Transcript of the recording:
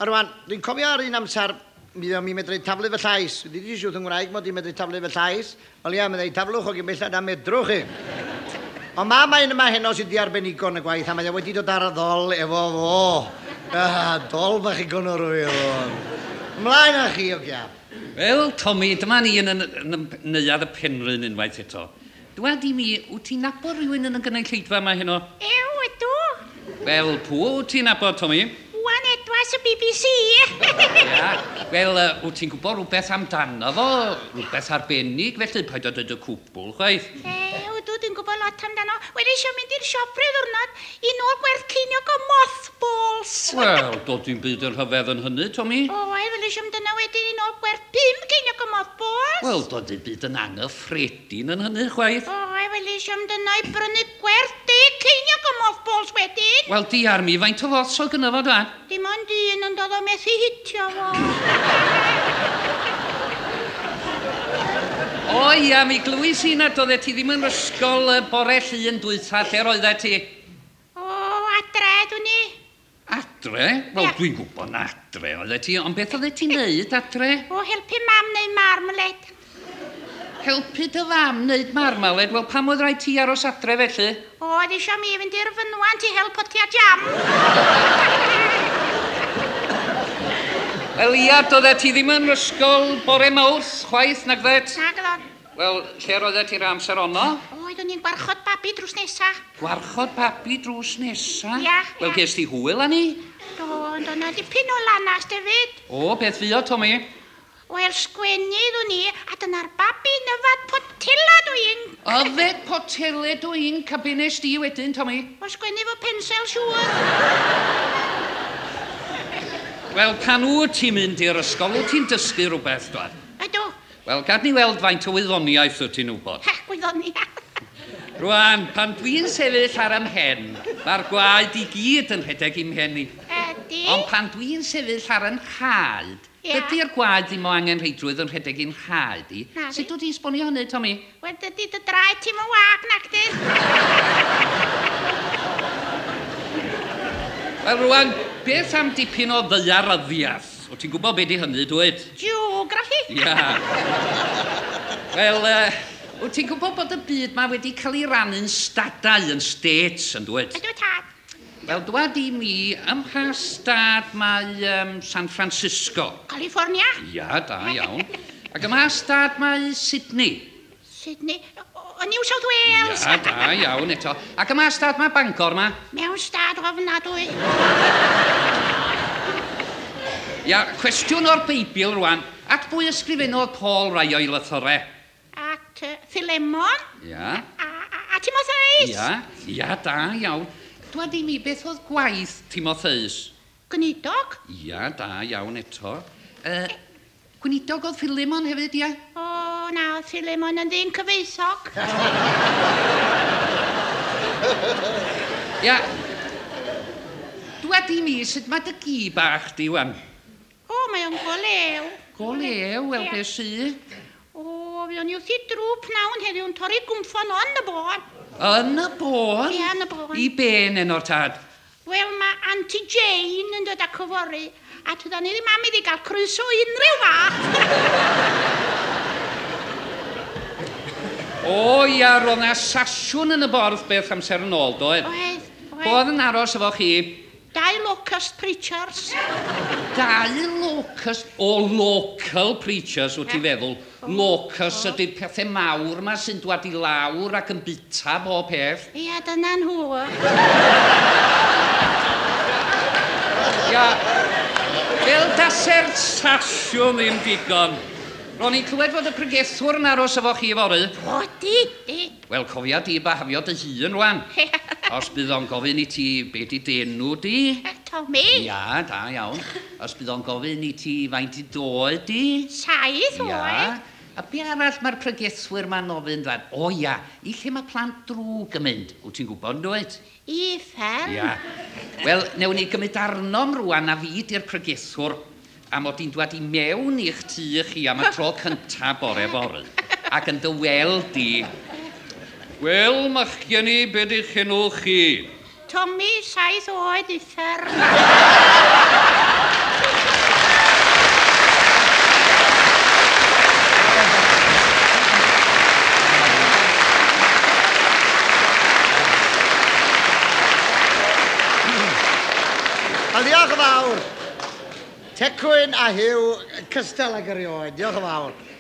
A rwan, dwi'n cofio ar un amser, mi o'n i'n medru taflu fy llais. Dwi wedi siwth yng Ngwraig mod i'n medru taflu fy llais. Wel ia, meddai, taflwch o gyn bellad a medrwch chi. Ond ma' mae un yma heno sydd di arbenigo yn y gwaith, a mae o wedi dod ar y ddol efo fo. Ah, dol bach i gonor o fi oedd. Ymlaen â chi, ogia. Wel, Tommy, dyma ni yn, yn, yn, yn neuadd y Penrhyn unwaith eto. Dwad i mi, wyt ti'n nabod rhywun yn y gynulleidfa yma heno? Ew, ydw. Wel, pwy wyt ti'n nabod, Tommy? Wan Edwards y BBC. Ia. Wel, wyt ti'n gwybod rhywbeth amdano fo? Rhywbeth arbennig, felly paid â dweud y cwbl, chwaith. Ew, ydw, dwi'n gwybod lot amdano. Wel, eisiau mynd i'r siop rhyw ddwrnod i nôl gwerth ceiniog o mothballs. Wel, doedd dim byd yn rhyfedd yn hynny, Tommy. O, wel, eisiau mynd yna wedyn i nôl gwerth 5 ceiniog o mothballs. Wel, doedd dim byd yn anghyffredin yn hynny, chwaith. O, wel, eisiau mynd yna i brynu gwerth 10 ceiniog o mothballs wedyn. Wel, diar mi, faint o foths o gynno fo, dwa? Dim ond un, ond oedd o methu hitio fo. O ia, mi glywys i nad oeddet ti ddim yn ysgol y bore llun dwytha, lle roeddet ti? O, adre, dwi'n i. Adre? Wel, Ia. dwi'n gwybod na adre oeddet ti, ond beth oeddet ti'n neud adre? O, helpu mam neu marmalade. Helpu dy fam neud marmalade? Wel, pam oedd rhaid ti aros adre felly? O, oedd eisiau mi fynd i'r fynwant i hel potia jam. Wel, ia, doeddet ti ddim yn ysgol bore Mawrth, chwaith, nag ddet? Nag oedd. Wel, lle roeddet ti'r amser ono? O, oeddwn i'n gwarchod babi drws nesa. Gwarchod babi drws nesa? Ia, Wel, ia. ges ti hwyl â ni? Do, ond o'na dipyn o lanast hefyd. O, beth fuo, Tommy? Wel, sgwennu ddwn i, a dyna'r babi yn yfad potelad o inc. Yfed poteled o inc, a be nes di wedyn, Tommy? O, sgwennu fo pensel, siŵr. Wel, pan wyt ti'n mynd i'r ysgol, wyt ti'n dysgu rhywbeth, dwad? Ydw. Wel, gad ni weld faint o wyddoniaeth wyt ti'n wybod. Ha, gwyddoniaeth. Rwan, pan dwi'n sefyll ar 'y mhen, mae'r gwaed i gyd yn rhedeg i'm mhen i. Ydy. Ond pan dwi'n sefyll ar 'y nhraed, Ia. dydy'r gwaed ddim o angenrheidrwydd yn rhedeg i'n nhraed i. Na fi. Sut wyt ti'n sbonio hynny, Tommy? Wel, dydy dy draed ti'm yn wag, nac di? Wel, rwan, beth am dipyn o ddaearyddiaeth? Wyt ti'n gwybod be di hynny, dwyt? Geography. Ia. Wel, wyt ti'n gwybod bod y byd ma wedi cael ei rannu'n stadau, yn states, yn dwyt? Ydw, tad. Wel, dwad i mi, ym mha stad mae San Francisco? California. Ia, da iawn. Ac ym mha stad mae Sydney? Sydney. O, New South Wales. Ia, da iawn eto. Ac ym mha stad mae Bangor ma? Mewn stad ofnadwy. Ia, cwestiwn o'r Beibl rwan. At bwy ysgrifennodd Paul rai o'i lythyrau? At Philemon. Ia. A Timotheus. Ia, ia, da iawn. Dwad i mi, beth oedd gwaith Timotheus? Gweinidog. Ia, da iawn eto. Gweinidog oedd Philemon hefyd, ia? O, na, oedd Philemon yn ddyn cyfoethog. Ia. Dwad i mi, sut mae dy gi bach di, wan? O, mae o'n go lew. Go lew, wel, Ia. be sy? O, fi o'n i wrth i drw pnawn heddiw yn torri gwmffon yn y bôn. Yn y bôn? Ia, yn y bôn. I ben eno'r tad? Wel, mae Auntie Jane yn dod ac yfory, a tydan ni ddim am iddi gael croeso unrhyw fath. O, ia, roedd 'na sasiwn yn y borth beth amser yn ôl, doedd? Oedd, oedd. Oedd yn aros efo chi? 2 locust preachers. 2 locust, o local preachers, wyt ti'n feddwl. Locust ydy'r pethau mawr ma sy'n dwad i lawr ac yn bita bob peth. Ia, dyna nhw. Ia, fel dase'r sasiwn ddim digon. Ro'n i'n clywed fod y pregethwr yn aros efo chi fory. O, di, di. Wel, cofia di bahafio dy hun rwan. Os bydd o'n gofyn i ti be di d'enw di. Tommy. Ia, da iawn. Os bydd o'n gofyn i ti faint i d'oed di. 7 Ia. oed. A be arall mae'r pregethwyr ma'n ofyn dwan? O ia, i lle mae plant drwg yn mynd? Wyt ti'n gwybod, dwyt? I uffern. Ia. Wel, newn ni gymryd arnom rwan a fi di'r pregethwr a mod i'n dwad i mewn i'ch tŷ chi am y tro cynta bore fory. Ac yn dy weld di. Wel, machgen i, be di'ch enw chi? Tommy, 7 oed, uffern. Wel, diolch yn fawr. Tecwyn a Huw, cystal ag erioed. Diolch yn fawr.